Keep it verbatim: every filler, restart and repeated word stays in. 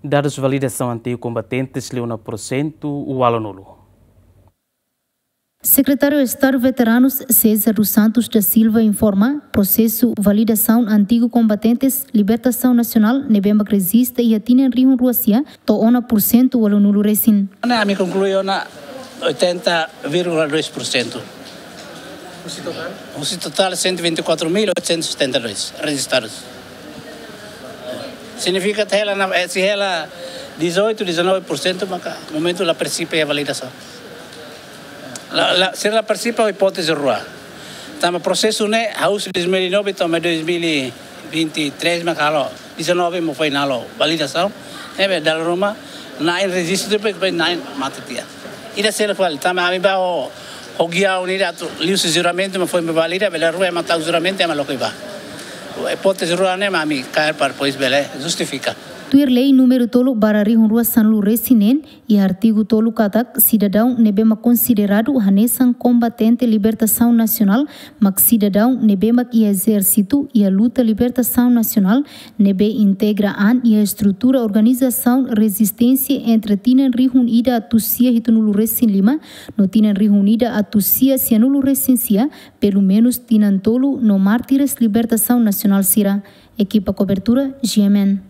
Dadus validasaun antigu kombatentes liu ona pursentu ualunulu. Sekretáriu Estadu Veteranus César dos Santos da Silva informa, prosesu validasaun antigu kombatentes libertasaun nasionál ne'ebé mak rejista iha tinan rihun rua sia to'o ona pursentu ualunulu resin. Ne'e ami konklui ona oitenta vírgula dois por cento. Husi totál cento e vinte e quatro mil oitocentos e setenta e dois rejistados. Signifika hela na, eh, se hela dezoito, dezanove por cento, maka momentu la partisipa iha validasaun. La, la, sira la partisipa ho ipóteze rua. Tanba prosesu ne'e, hahú husi dois mil e nove to'o dois mil e vinte e três maka halo, dezanove mós foin halo validasaun. Ne'ebé dala ruma na'in rejistu depois, depois na'in mate tiha. Ida seluk fali, tanba ami ba ho, ho gia unida atu liuhusi juramentu mak foin ba valida, bele rua ema tau juramentu ema loke ba. Ipóteze rua ne'e mak ami kaer para depois bele justifika. Tuir lei númeru tolu barra rihun rua sanulu resin neen, iha artigu tolu katak, sidadaun ne'ebé mak konsideradu hanesan kombatente libertasaun nasionál mak sidadaun ne'ebé mak iha ezérsitu iha luta libertasaun nasionál, ne'ebé integra an iha estrutura organizasaun rezisténsia entre tinan rihun ida atus sia hitunulu resin lima no tinan rihun ida atus sia sianulu resin sia, pelumenus tinan tolu no mártires libertasaun nasionál sira. Ekipa kobertura, G M N.